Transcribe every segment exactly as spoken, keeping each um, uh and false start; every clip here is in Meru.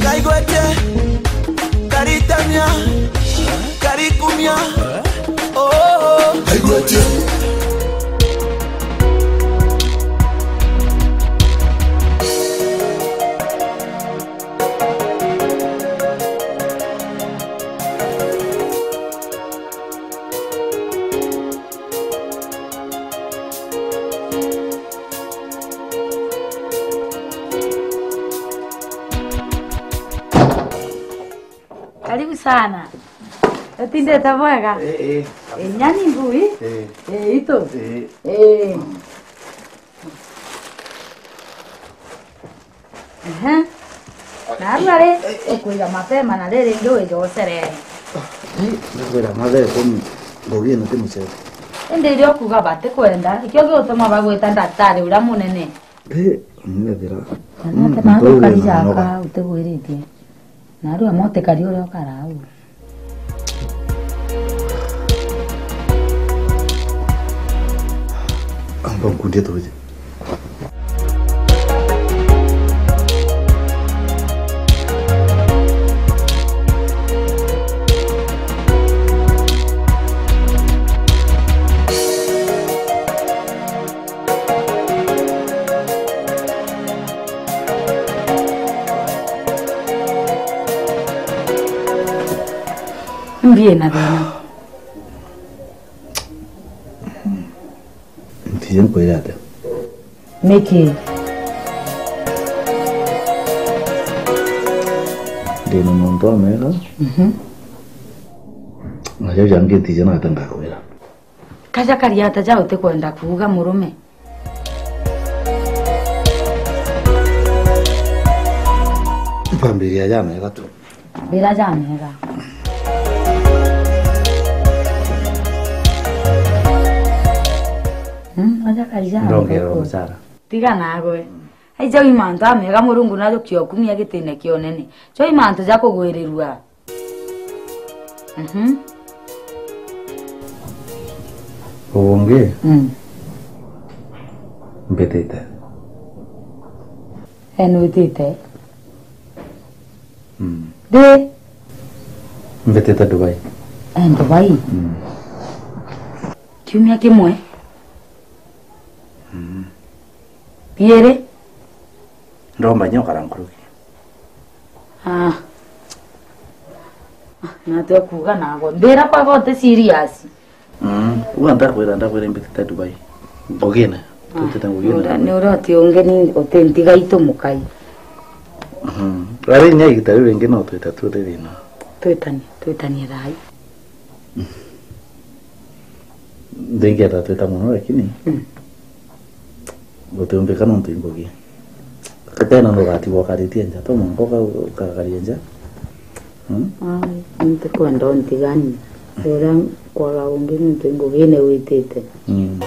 Kaigwete, karitamia, karikumia. Oh, oh. Kaigwete. Karibu sana. Utindite bwega? Eh, eh. Eh, nyani ngui? Eh. Eh, itu? Eh. Eh. Ehe. Na rua ri, ukwira mapema na riri ringi wije ucerere. Ii, ndakwira mathaa ikumi ngugi ino ti mucere. Indi iria ukuga batikwenda, ikio giutuma bagwita ndaktari uria munene. Ii, ni ethira. Na nake nawe ukari jaka utigwiritie. Na riu amwe utikari uria ukara au. Amba nkundie tuje. Mbi ina thina. Ntiji nkwire atia? Niki? Ndina muntu amega. Mhm. Na jau jangi ntiji na atia ngakwira. Kaja kari ata ja utikwenda kuuga murume? Mpambiria ja mega tu. Mbira ja mega. Hmm, aja kari ja mega. Ndongererwa mucara. Tiga nagwe. Ai jau i mantu amega Murungu najukia ukumia gitine kia unene. Jo i mantu ja kugwirirua. Mhm. Ubu ungi? Mm. Mbitite. Eh, nwitite? Mm. Ndi? Mbitite Dubai. Eh, Dubai? Mm. Kiumia kimwe? Mm. Biiri? Ndomba inya ukara nkuruki. Ah. Ah, na twe kuuga nago. Mbira kwega uti serious. Mm. Uga ndakwira, ndakwira mbitite Dubai. Ngugine. Ah, tutite ngugine. Ni uria uti ungi ni uti ntiga itu mukai. Mhm. Rari nya igita riu ringi no twita tu ri thina. Twitanie, twitanie thai. Ndingenda twita mono, lakini, mm, gutiumbika nontu i ngugi. Tena nugatigwa ukaritie nja, to mwanka uka-, ukagaria nja. Mm? Ai, ntikwenda untigania. Uria nkwaga ungi nontu i ngugine witite. Mm.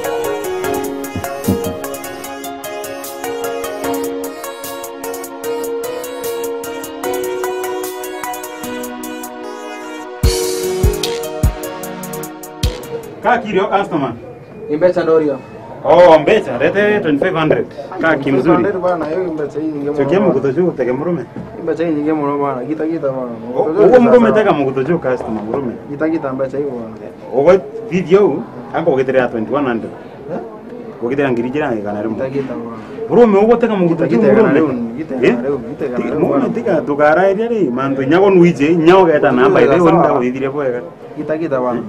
Ka kirio customer. Ni mbeca ndoria. Oh, mbeca, rete twenty-five hundred. Ka kimzuri. Twenty-five hundred bwana, hiyo mbeca hii nyingi mno. Chokia bwana. Muguto juu, tege murume. Hii mbeca hii nyingi mno bwana. Gita, gita bwana. Muguto juu. Uguo murume sawa. Tega muguto juu customer, murume. Gita, gita mbeca hii bwana. Ugo video, ako gitire ya twenty-one hundred. Eh? Gukithira ngiri ijiri na igana rimwe. Itagita bwana. Murume ugutega muguto juu murume. Itagita igana riu, itagita igana riu, itagita igana riu. Murume bwana. Tiga tukarairia ri, mantu nyago nwije, nyago geta namba iri, uri ndaguthithirie bwega. Itagita bwana.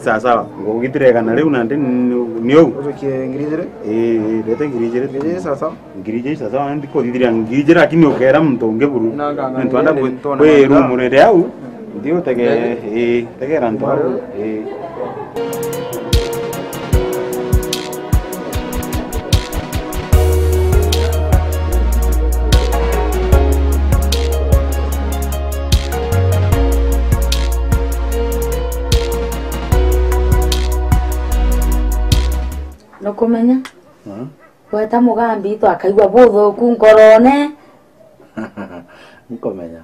Sawa sawa, ngugitire igana riu nandi ni, ni uu. Ujukie ngiri ijiri? Ii, ii, rete ngiri ijiri. Ngiri ijiri sawa sawa. Ngiri ijiri sawa sawa, ndi kuthithiria ngiri ijiri, lakini ukera muntu ungi buru. Nanga, nanga, nontu anda ngiri kwi, ntona kwi nanga. Room riri au. Ndi utege, ii, tegera ntu au. Ii. Nukumenya? Hmm? Gweta mugambi itu akaigua buthuku nkorone. Nkomenya.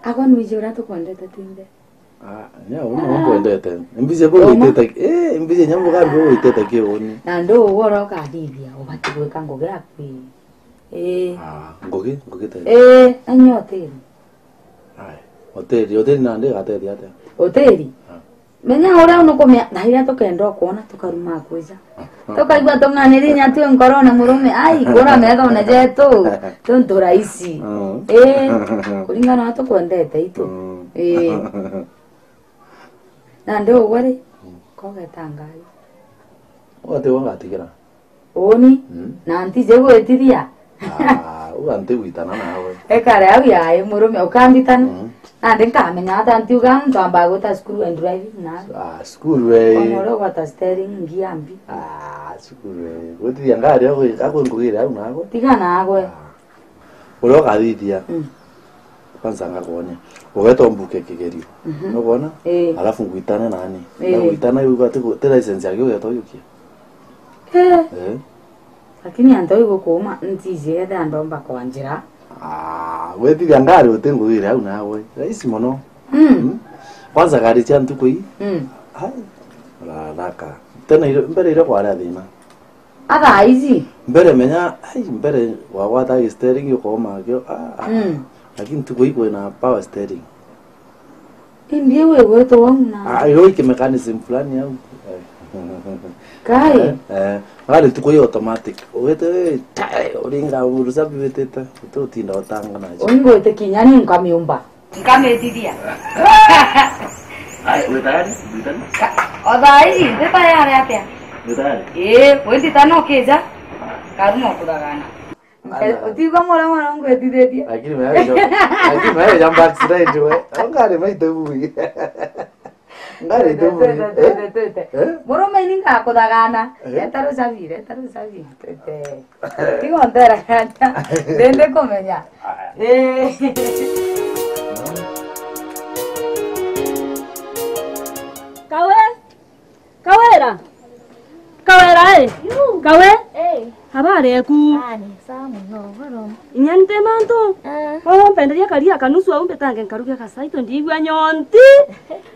Agwe nwiji uria tukwendete twinthe. Ah, nya uni nkwendete. Mbizi bo witete, eh, mbizi nya mugambi bo witete ki uni. Na ndu ugwe uria ukathithia, ubati gwika ngugi yaku ii. Ii. Ah, ngugi, ngugi te. Ii, na nya hoteli. Ai, hoteli, hoteli nandi igatethia atia? Hoteli? Ah. Menya uria nukumia, na iria tukenda ukwona tukaruma kwija. Tukaigua tung'aniri nya twi nkorone murume, ai, kura methone jetu, tuntu rahisi. Mm. Ii, kuringana na tukwendete itu. Mm. Ii. Nandi ugwe ri, kogeta ngari. Ugati wangatigira. Uni? Mm. Na ntiji gwitithia. Ah, uga ntigwitana nawe. Ekare au yae murume ukambitana. Mm. Nandi nkamenya ata ntiuga ntwamba gwita cukuru and driving na. Ah, cukuru we. Omoro gwata steering ngiambi. Ah, cukuru we. Gwitithia ngari au akwe ngugire au nawe. Tiga nawe. Ah. Uria ukathithia. Mm. Kwanza ngakwonia. Ugeta umbuke kigerio. Mhm. Nukwona? Ii. Alafu ngwitane nani. Ii. Na gwitana iu ugati ti license yake ugeta uyukia. Eh. Eh. Lakini antu igu kuuma ntiji ethe andomba kwanjira. Ah, gwetithia ngari uti ngugire au nawe. Rahisi mono. Mm. Mm. Kwanza ngari cia ntuku ii. Mm. Hai. Rathaka. Tena ire, mbere ire kwari thina. Athaa ici? Mbere menya, ai, mbere wagwata steering ukoma kio. Ah, ah. Mm. Lakini ntuku ii kwina power steering. Indi iu igwitwa uu na. Ah, iro iki mechanism fulani au. Eh. Kai? Eh, eh. Ngari ntuku ii automatic. Ugite wi, tai, uringa urusabi witite. Uti utinda utanga nacio. Ungwite kinya ni nkamiumba. Nkamitithia. Ai, witari, witari. Ka-, o thaa ici, ndi tayari atia? Witari. Ii, windita no kija. Karuma kuthagana. Ala. Utigwa mwana mwana ngwetithitie. Lakini wewe jo-, lakini wewe jamba accident we. Ngari maite bui. Ngari tu bui. Twete, twete, twete. Eh? Murume ini ngakuthagana. Eh? Eta rucabi, eta rucabi. Twete. Tiga ontera kanya. Ndende kumenya. Eh. Kawe. Kawera. Kawera, eh. Yu. Kawe. Eh. Habari eku? Ah, ni sawa muno, goro. Inya nte mantu. Ah. Oh, mpenderia karia kanusu au mbetange nkaruge kasai to ndigwa nyonti.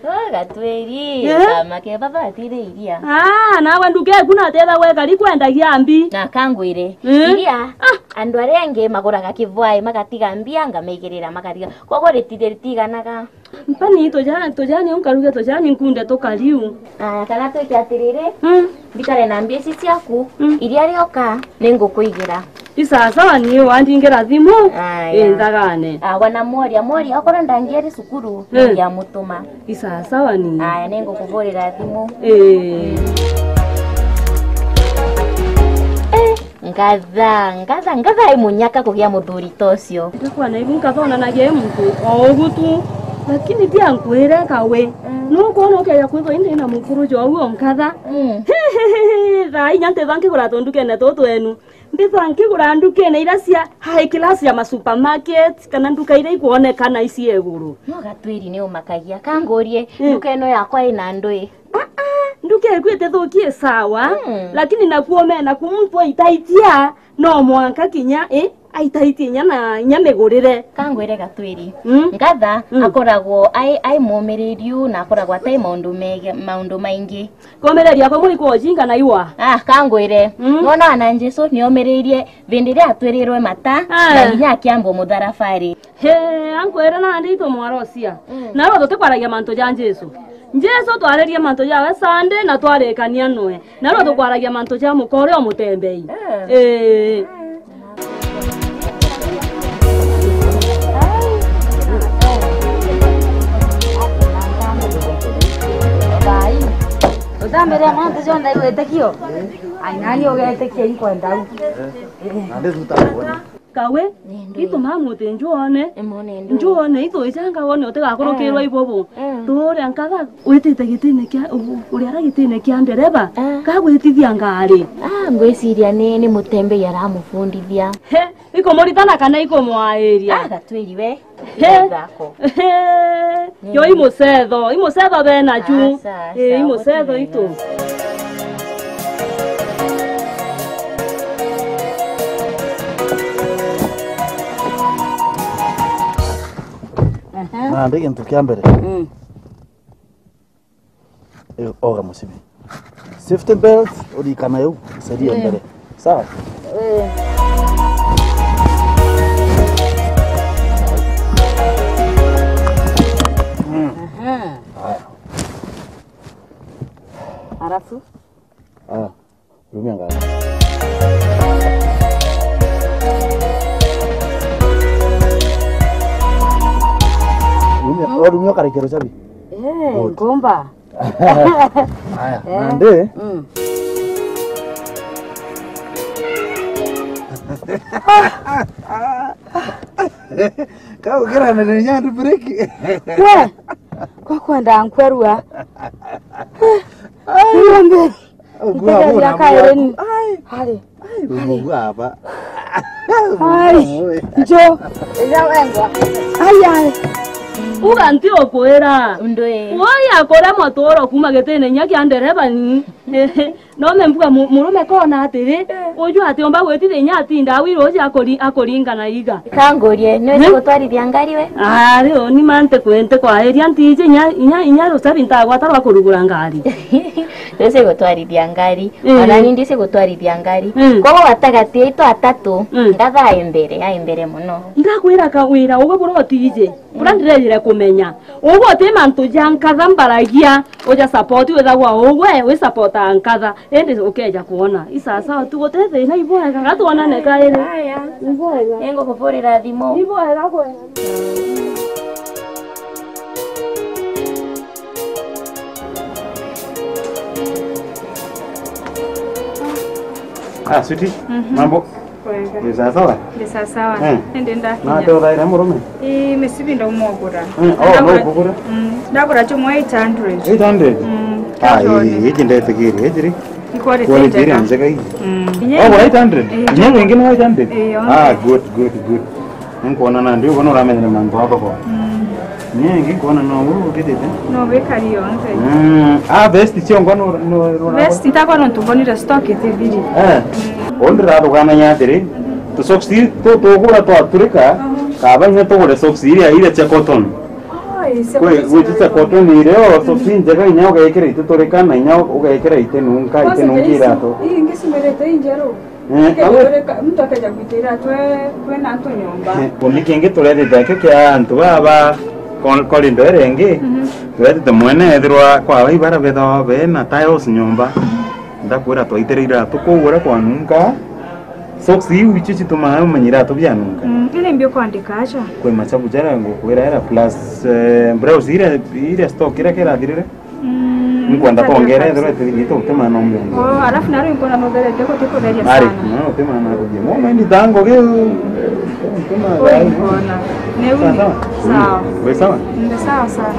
Oh, Gatwiri, eh? Kama ke baba atire iria. Ah, nawe nduke eku na tetha gwe kari kwendagia mbi. Na kangwire. Eh? Iria, ah, andu aria angi maguraga kivwai, magatiga mbia, ngamaigirira makariga. Koguo ritire ritiganaga. Mpani tuja-, tujani unkaruge tujani nkunde tukariu. Aya, kana twike atiriri, mm, mbikare na mbia ici ciaku, mm, iria rioka, ningukuigira. Isasawa ni wandingira thimu, aya, inthagane. Agwa na mworia, mworia, okorwo ndangieri cukuru, eh, ningiamutuma. Isasawa ni. Aya, ningukuvurira thimu. Eh. Eh. Ngatha, ngatha, ngatha i munyaka kugia muthuri ta ucio. Ndikwana ibu nkathonanagia i muntu o ugu tu. Lakini tia nkwire kawe. Mm. Nukwona ukeja kwithwa indi na mukuru jo uo nkatha. Mm. Thaa inya ntitha nkigura tundukene tutu enu. Mbitha nkigura ndukene iria cia high class ya ma supermarket kana nduka iria ikwonekana ici iguru. No Gatwiri ni umakagia. Kangurie, mm, nduka ino yakwa ina ndui. Ah, ah, nduka eku itithukie sawa, mm, lakini nakuo mena ku muntu aitaitia, no mwanka kinya, eh, aitaitie inya na inya migurire. Kangwire Gatwiri. Mm. Ngatha, mm, akoragwo ai, ai mumiriru na akoragwo atai maundu mege-, maundu maingi. Kumireria kwa muri kwa ujinga na iwa. Ah, kangwire. Mm. Nona ana Jesu niomiririe vindi iria atwirirwe mata, ah, na inya akiambwo mutharabari. He, ankwire nandi itu mwarocia. Mm. Narua tutikwaragia mantu ja Jesu. Jesu twaririe mantu jawe Sunday na twarikania noe. Narua tukwaragia mantu ja muka uria umutembei. Eh. Eh. Utambiria mantu jonthe igwitikio. Ai, nani ugetikia inkwenda u? Nandi thuta kuona. Kawe, ni ndui. Itu mamuti njuone. Imone ndui. Njuone, itu icanga wone utigakurukirwa, eh, ibobo. Mm. Turia nkatha, witite gitine kia, u-, uriara gitine kia ndereba, eh, kagwitithia ngari. Ah, ngwiciria ni, ni mutembei aramufundithia. He, ikumuritana kana ikumwairia? Ah, Gatwiri we. He. Thako. He. Yo imucetho, imucetho bena ju. Asa, asa, eh, imucetho itu. Gatwiri. Nandi gintu kia mbere. Mm. Eh, oga musibi. Safety belt, urikana yu, saria mbere. Sawa? Eh. Mm. Aha. Haya. Alafu? Ah. Rumia ngari. Rumia, oh, rumia ukarekera ucabi. Eh, good. Ngomba. Haya, eh, nandi. Mm. Kau kira na ni nyandu break. We, kwa kwenda nkwerua. Ngombe. Ugua. Itegeria kairi ni. Ai. Hari. Ai, ugua aba. Ai. Njo. Ija wengwa. Ai, ai. Uga nti ukwira. Ndwi. Woi akore motoro kuma gitine inya kia ndereba ni. No me mbuga mu-, murume kona atiri, eh, uju atiomba gwitithia inya atinda awi ruji akuri-, akuringa na iga. Kangurie, ni wezi, eh, gutwarithia ngari we? Ah, rio ni mante kwente kwairia ntiji inya, inya, inya rucabi ntagwata rwa kurugura ngari. Ndwisi gutwarithia ngari. Mm. Ona ni ndwisi gutwarithia ngari. Mm. Koguo gatagati aitu atatu, mm, ndathaa e mbere, ai mbere muno. Ndakwira kawira, ugwe buru utiji. Bura ndirejire kumenya. Ugwe uti mantu ja nkatha mbaragia, uja support withagwa ugwe, wi support a nkatha. Indi ukeja kwona. Isasawa tu guti thina ibwega. Gatwonane kairi. Aya. Ibwega. Ningukuburira thimu. Ibwega kwega. Ah, sweetie, mhm, mambo? Kwega. Ni sawa sawa? Ni sawa sawa. Eh. Nindi ndakinya. Na te uthaire murume? Ii, misibi ndauma ugura. Eh, oh, no ukugura? Mm, ndagura chuma eight hundred. Eight hundred? Mm, ah, ii, iji ndetikirie, iji ri? Quality iria njega ii. Mm. Wagura eight hundred? Ii. Inya wingi ni eight hundred? Ii, yonthe. Ah, good, good, good. Ninkwona nandi uguo nuramenyera mantu a thoko. Mm. Inya wingi nkwona no uu ukitite. No wikari yonthe. Mm. Ah, vest ciongo nu, nu, nu, vest itakwa nontu mbonire stock itithiri. Eh. Mm. Uu ndirathuganagia atiri, tu socks tu tugura twaturika, kaba inya tugure socks iria, iria cia cotton. Kwi, gwi cia cotton irio, socks injega inya ugekira ititurika na inya ugekira itinunka, itinunka iratu. Ii ingi cimerete injeru. Eh, awe. Muntu akeja gwita iratu e, kwina antu nyomba. Eh, kumi kingi turetite akio kia antu baba, kol-, korindo iria ingi, mhm, turetite mwene ethirwa kwa ibara bethawa bena tiles nyomba. Ndakwira twaitire iratu kuu uria kwanunka. Socks iu icio citumaa umenye iratu bianunka. Mm, iri mbi ukwandika acha? Kwi machabu jaria ngukwira era plus, eh, blouse iria, iria stock iria kirathirire. Mm, nkwenda kwongera ethirwa itithirite utimana umbe. Oh, alafu nari nkwona nutherete gutikutheria sana. Ari, no utimana kuthia. Mo mendi tango ge. Ui, mbona. Ni uni. Sawa, sawa. Sawa. Mm, wi sawa? Ndi sawa sana.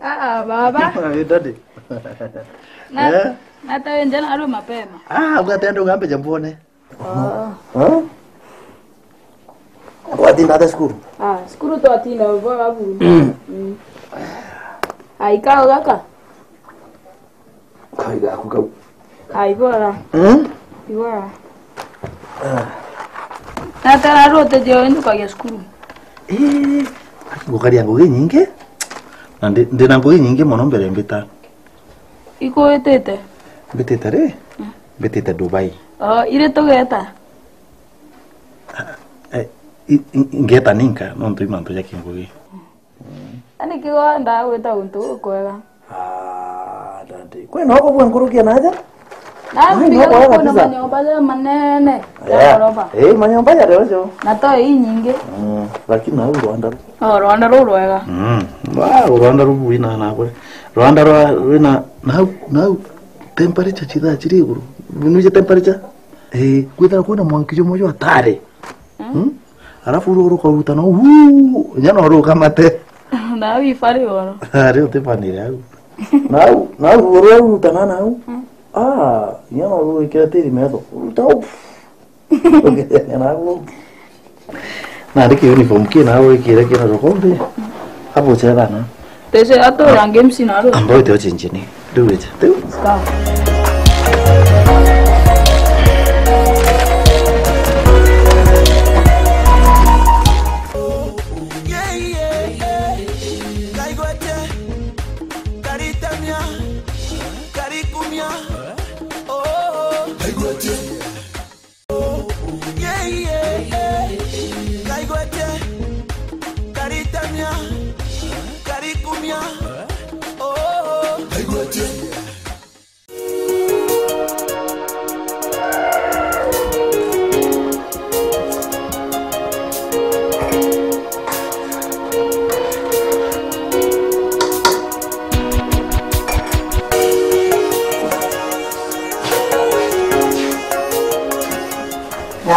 Ah, ah, baba. Hey, daddy. Na, eh? Natawe nja narua mapema. Ah, ugatenda ugambe jambone. Ah. Huh? Watinda ata cukuru? Ah, cukuru twatinda bora buru. Mm. Mm. Ai, kao gaka? Kai gaku kau. Ai, bora. Mm? Ibora. Ah. Natara rote jeo ndukagia cukuru. Eh, ngukaria ngugi nyingi. Na ndi, ndina ngugi nyingi mono mbere mbita. Ikwitite? Mbitite ri? Mm. Mbitite Dubai. Oh, iri tugeta? Ah, eh, i, i, ngeta ninka, nontu i mantu ja kingugi. Ani kigo ndagwita untu ukwega. Ah, daddy. Kwina uko bwa nkurukia naja? Na ai, mbigirwo no kwega kwina kabisa. Manyomba ja manene, ja, yeah, goroba. Eh, manyomba ja leo jo. Na to i nyingi. Mm, lakini na u Rwanda. Oh, Rwanda ruu rwega. Mm. Wow, Rwanda ruu rwina na kwe. Rwanda rwa, rwina, nau, nau, temperature chithaa chiri iguru. Bunuje temperature? Eh, kwithira kwina mwanki jumwe jwa tare. Mm. Hmm? Alafu uru rukaruta no, huu, nya no rukamate. Na wifari woro. Ari utifanire au. Nau, nau, uru ruta na nau. Mm. Ah, nya no rwikira tiri metho. Ruta u. Nandi ki uniform ki na wikire kina rokombe. Hapo cheza na. Tese ato ya games na ro. Ambao te ochenjini. Riu wije. Riu. Sawa.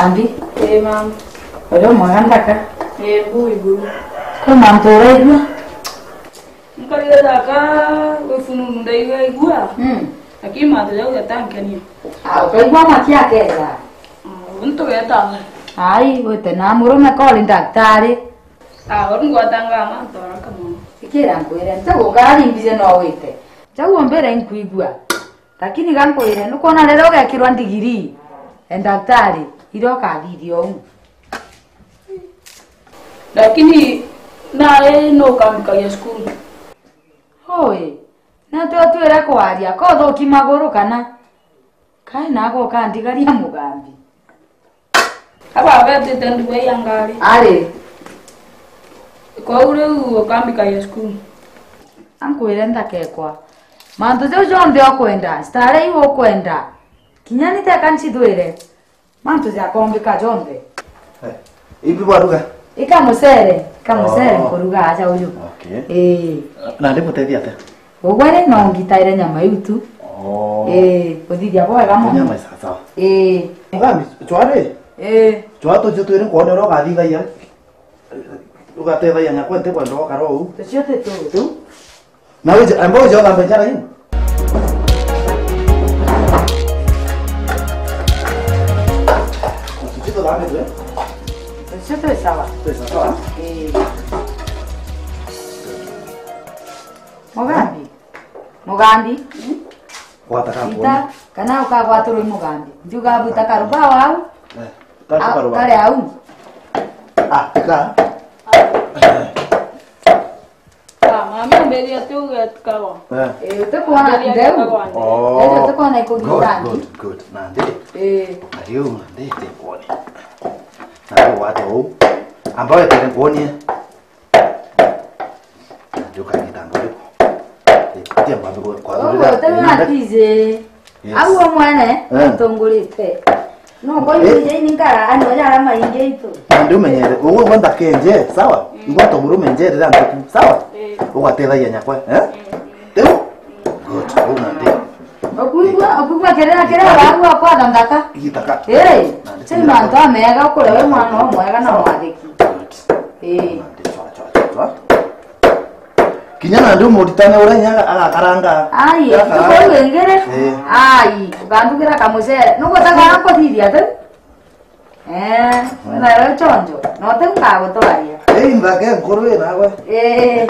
Andi? Ii, mama. Uri umwega ndaka? Ii, mbu iguru. Kwi mantu uraigua? Nkarire ndaka, wi fununu ndaigua igua. Mm. Lakini mantu jau jatankenia. Ah, ukaigua maki akeza? Ah, untu geta. Ai, wite na murume kori ndaktari. Ah, uri ngwatangaa mantu araka mono. Ikira nkwire, nti gukara rimbize no wite. Jau umbire nkwigua. Lakini ga nkwire, nukwona riria ugekirwa ndigiri, e ndaktari, iria ukathithia uu. Lakini nari nu ukambikagia cukuru? Ui, na twe twire kwaria, ko uthuki maguru kana? Kai nago ukandigaria mugambi? Aba betite ndugu ya ngari. Ari. Kwou riu ukambikagia cukuru? Ankwire ndakekwa. Mantu jau jonthe ukwenda, stare iu ukwenda. Kinya ni teka ncithwire. Mantu jakombika jonthe. Eh, ibi bwaruga? Ika mucere, ika mucere. Oh. Nkuruga aja uyu. Okay. Ii. Na ndimutethia atia? Ugwe ri no ngitaire nyama iu tu. Oh. Ii, uthithia bwega mono. Nyama sawa sawa. Ii. Mugambi, chwari? Ii. Chwa tucio twiri nkwone uria ugathithagia. Ugatethagia nyakwa nti kwenda ukara uu. Tucio ti tu. Tu? Na wije, amba wije uthambe njara ii. Tucio tuthambe tu, eh? Tucio twi sawa. Twi sawa, sawa. Ii. Mugambi. Mugambi. Gwata ka ita, kuona. Kana ukagwatirwo i mugambi. Ndiuga bwita karuba wau. Eh, tatu au, karuba. Kare au. Ah, tika. Ah, mami, amberia tu getikawa. Eh. Eh, utekwona ndeu. Oh. Eh, utekwona iko good, gitani. Good, good. Nandi. Eh. Ariu nandi tekwoni. Na wate u. Amba wetere nkuonie. Njuka ngitambo riku. Tia mbabe kwa. Uguo utewe na tizi. Yes. Au omwene, eh, atongorite. No, kwa hiyo, eh, je, ni nkara, ano, ya rama inge itu. Nandi umenyere, uguo gwenda kenje, sawa? Mm. Igwa to murume njere ra nduku, sawa? Eh. Ugatethagia nyakwa, eh? Mm. Riu? Good, uguo nandi. Okuigua, okuigua kirira, kirira, wagu akwa thaka. Igitaka. Eh, nandi ti mantu amega ukure we mwana omwega na mwathiki. Good. Eh. Nandi, chwa, chwa, chwa, chwa. Kinya nandi umuritane uria inya agakaranga. Ai, agakaranga. Tuko wengere. Eh. Ai, ukandugira kamucere. Nuko taka kuthithia tu. Eh, wethagirwa chonjo. No ti ngagutwaria. Ei, nthake nkuru wi nawe. Eh.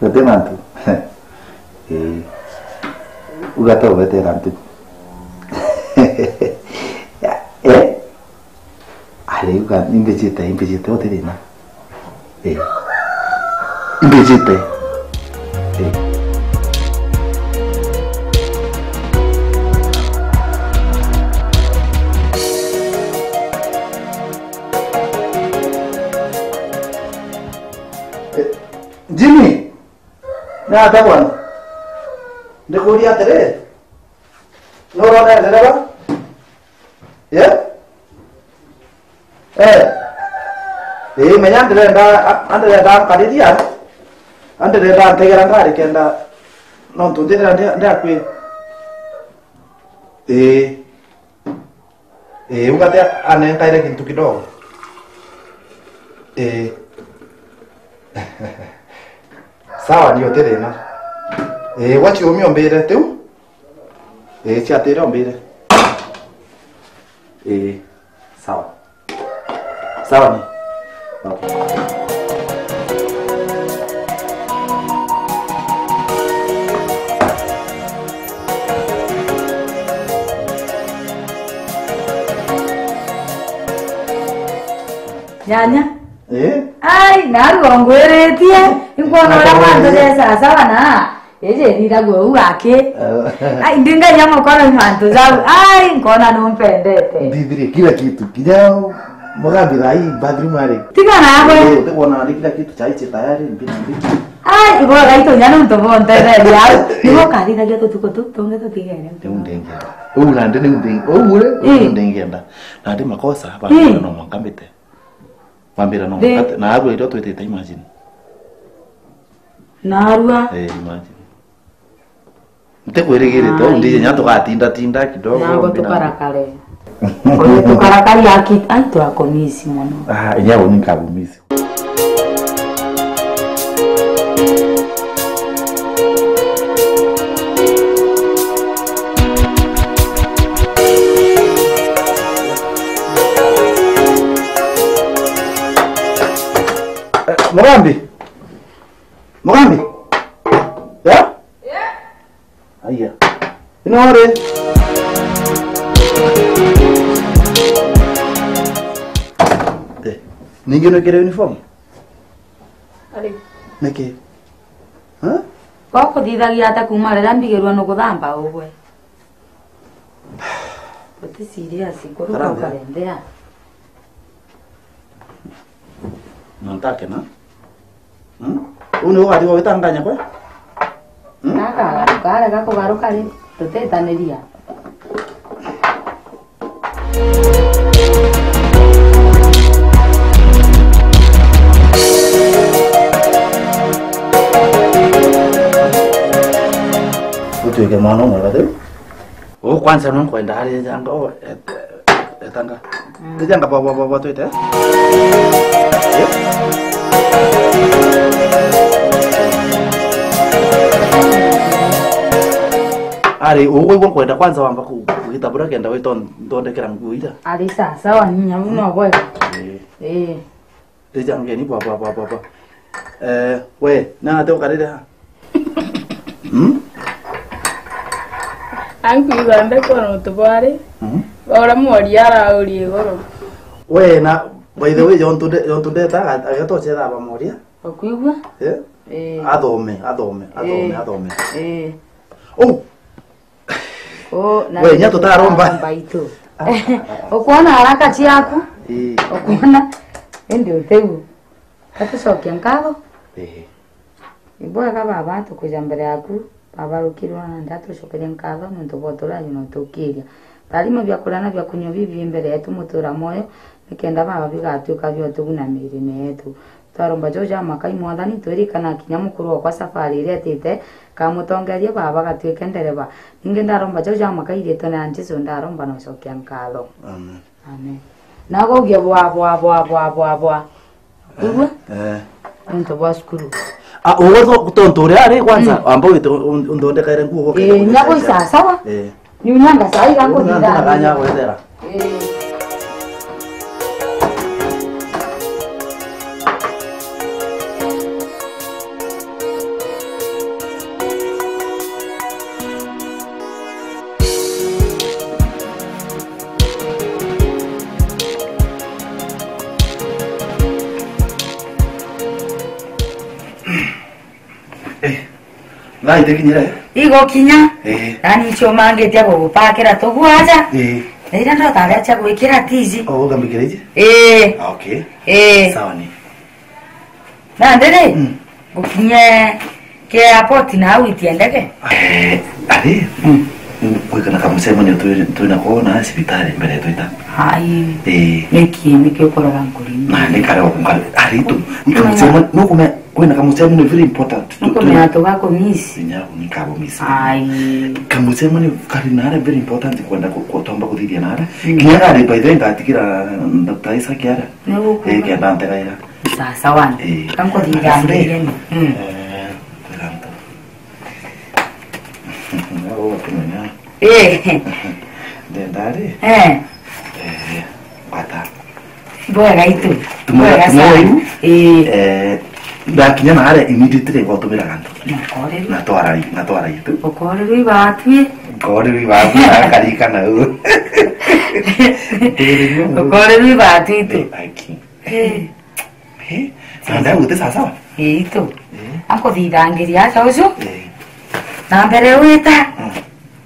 Gati mantu. Eh. Uga to gwetera ntu. Ya, eh? Ari uga imbijite, imbijite, uti thina. Eh. Imbijite. Eh. Eh, Jimmy, ni atia bwana? Ndikuuria atiri, ni urona ndereba? Ye? Eh. Ii, menya ndirenda, a-, andirenda nkariria, andirenda ntegera ngari kenda, nontu ndithira ndi, ndi akui. Ii. Ii, ugate anenkaire kintu kidogo. Ii. Sawa, ni uti thina. Ii, gwa ciumia umbire tiu? Ii, ciatire umbire. Ii, sawa. Sawa ni. Okay. Nyanya. Eh? Ai, narua ongwiritie. Inkwona uria mantu jesa sawa na. Iji ithithagua uu aki. Eh. Ai, ndingaia mukoro i mantu jau. Ai, nkona numpendete. Ndithirie kila kitu. Kinya mugambi thaa hii bathroom ari. Tiga nawe. Eh, utikwona ari kila kitu chai chi tayari, mbiti, mbiti. Ai, ibo gaitu nya nuntu bontetheria au. Nibo kathithagia tutuku tu, tungi tutigere. Riu ndingienda. Uu nandi niu nding-, uu ri, uu ndingienda. Nandi makosa, bambira no mwanka mbite. Bambira no mwanka, na arua irio twitite, imagine. Narua. Eh, imagine. Ntikwirigirite, uu ndije nya tugatinda tinda kidogo. Nago tukarakare. Oyo tukarakari aki-, ai, twakumisi mono. Ah, inya uni nkakumisi. Eh, Mugambi. Mugambi. Ya? Aya. Ino ri? Eh, ningi nwikire uniform? Ari. Niki? Ha? Ko kuthithagia ata kuma riria mbigirwe nukuthamba ugwe? Uti serious, kuruka ukarembea. Na ntake na? Hmm? Uu niwe ugatigwa witanganya kwe? Hmm? Gaka gatukarega kugaruka ri, tutitaniria. Utuike mwana umwe bathiu. Uu kwanza no nkwenda ari ejanga, o, et-, etanga. Mm. Ejanga bwa, bwa, bwa, bwa twite. Ari, uu kwigua nkwenda kwanza wamba ku-, kugitabura kenda witonthondekera nguo ira. Ari sawa, sawa, nyamu no bwega. Eh. Eh. Ejangeni bwa, bwa, bwa, bwa, bwa. Eh, we, nana te ukarire ha? Hmm? Ankwigua ndekwona untu bwari. Mhm. Ora mworia araurie iguru. We, na, by the way, jontu nde-, jontu ndeta, aga-, agatochera aba mworia. Ukwigua? Eh? Eh. Athome, athome, athome, eh, athome. Eh. Oh, we, nya tutaromba. Ukwona haraka ciaku? Ii. Ukwona? Indi utiu. Gatucokia nkatho. Ii. Ibwega baba, tukuja mbere yaku. Baba rukirwa na nda, tucokerie nkatho nontu bwa uturaji na utukiria. Tharima bia kuria na bia kunyua bibi mbere yetu mutura mwoyo, nikenda baba bigatuika bia utuguna miirine yetu. Twaromba jau ja maka i Mwathani, twirikana kinya mukuru okwa safari iria etite, kamutongerie baba gatuike ndereba. Ningi ndaromba jau ja maka i riitwa ria Jesu, ndaromba na ucokia nkatho. Amen. Amen. Nago ugie bwa, bwa, bwa, bwa, bwa, bwa. Kwigua? Eh. Nontu bwa cukuru. Ah, uwe tho-, tontu uria ari kwanza, mm, amba wite un-, un-, unthondekaire nguo goke. Eh, nyago isasawa. Eh. Niunyanga sai gangu. Unyanga ndithambia. Kanya gwethera. Eh. Thaa itekinyire? Igokinya. Eh. Yaani ncio mangitia gugupakira tuguo aja. Eh. Na iria ndotare acha gwikira tizi. Oh, ugambikira iji? Eh. Okay. Eh. Sawa ni. Na ndiri? Mm. Gukinye ke airport na au itie ndege? Eh, ari? Mm. Kwikana kamucemanio twi-, twina ko na cibitari mbere twita. Ai. Eh. Niki, niki ukorora nkuri? Na ni kare o nkare. Ari tu. Ni kamucemanio, nukume-, kwina kamucemanio very important. Tu-, Nukumenya tu-, tugakumisi. Inya ni kakumisi. Ai. Kamucemanio kari na ara very important kwenda ku-, ku-, tomba kuthithia na ara. Mm. Kinya ari by the way ngatigira Doctor Isaac ara. Ni gukuga. Eh, kenda ntegaira. Sasa wana. Eh. Kankuthithangiria ni. Mm. Eh, kwira nto. Nabo bakumenya. Eh. Ndenda ri? Eh. Eh, bata. Bwega itu. Tumwira, Bwega sana. Tumwira iu. Eh. Eh, ndakinya na aria immediately gwatumira gantu. Nakorerwe. Na twara, na twara itu. Ukorerwe ibatwi. Ukorerwe ibatwi, akarika na u. Ukorerwe ibatwi itu. Eh, aki. Eh. Eh, na ndau guti sawa sawa? Eh, itu. Eh. Ankuthithangiria aca ucu. Eh. Na mbere wita. Mm.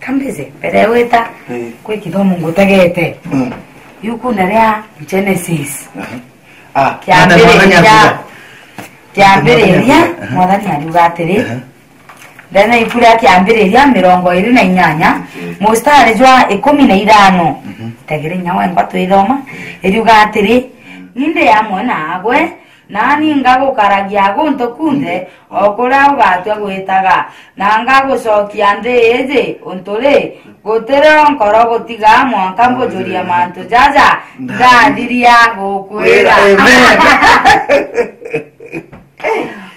Kambise, mbere wita. Eh. Kwi kithomo ngutegete. Mm. Yukune ria Genesis. Aha. Ah, Kiambiriria. Mwathani Mwathani akiuga. Kiambiriria, Aha. Mwathani ariuga atiri, Aha. Ndene iku ria Kiambiriria mirongo iri na inyanya, Okay. Mustari jwa ikumi na ithano. Mhm. Tegere inya wengwa twithoma, Okay. Iriuga atiri, Ni ndi amwe naagwe, nani ngagukaragia guntu kunthe, o kuria ugatua gwitaga, na ngagucokia nthi iji, untu ri, gutiri o nkoro gutiga mwanka mbujurie mantu jaja ndathiria gukwira. Amen.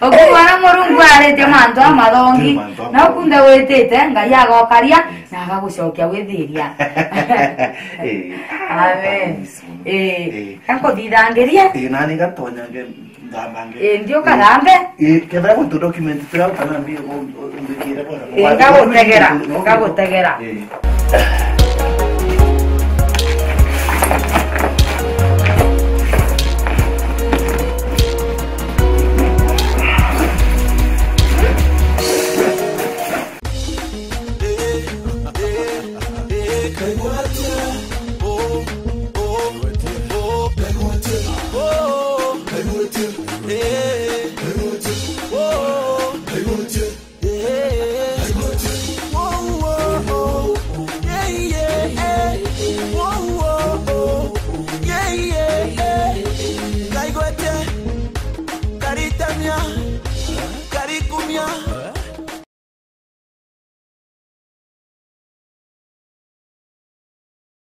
Ukuona Murungu aritie mantu amathongi, mantu na ukunthe witite, Ngai agokaria, Yes. na agagucokia withiria. Eh, Amen. Thanks muno. Eh, Eh. Gakuthithangiria. Eh, nani gatonyange nthambange. Eh, ndi ukarambe. Eh, kethira guntu document turia utanambi umbikire bora. Eh, ngagutegera, ngagutegera. Eh.